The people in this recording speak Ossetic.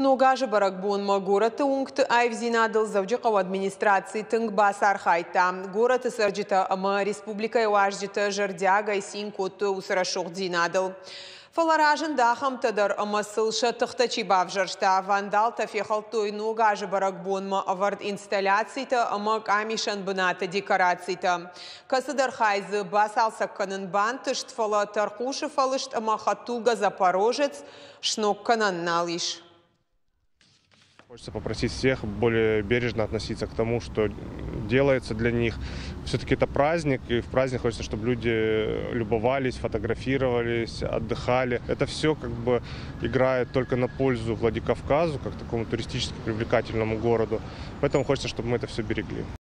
Ног азы бӕрӕгбонмӕ горӕты уынгты аивдзинадыл Дзӕуджыхъӕуы администраци тынг бацархайдта. Горӕты цӕрджытӕ ӕмӕ республикӕйы уазджытӕ зӕрдиагӕй цин кодтой уыцы рӕсугъддзинадыл. Фӕлӕ разынд ахӕмтӕ дӕр, ӕмӕ сыл сӕ тыхтӕ чи бавзӕрста. Вандалтӕ фехӕлдтой Ног азы бӕрӕгбонмӕ ӕвӕрд инсталляцитӕ ӕмӕ къамисӕн бынаты декорацитӕ. Кӕцыдӕр хай дзы бацалцӕг кӕнын бантыст, фӕлӕ тӕрхъусы фӕлыст ӕмӕ хӕдтулгӕ «Запорожец» сног кӕнӕн нал ис. Хочется попросить всех более бережно относиться к тому, что делается для них. Все-таки это праздник, и в праздник хочется, чтобы люди любовались, фотографировались, отдыхали. Это все как бы играет только на пользу Владикавказу, как такому туристически привлекательному городу. Поэтому хочется, чтобы мы это все берегли.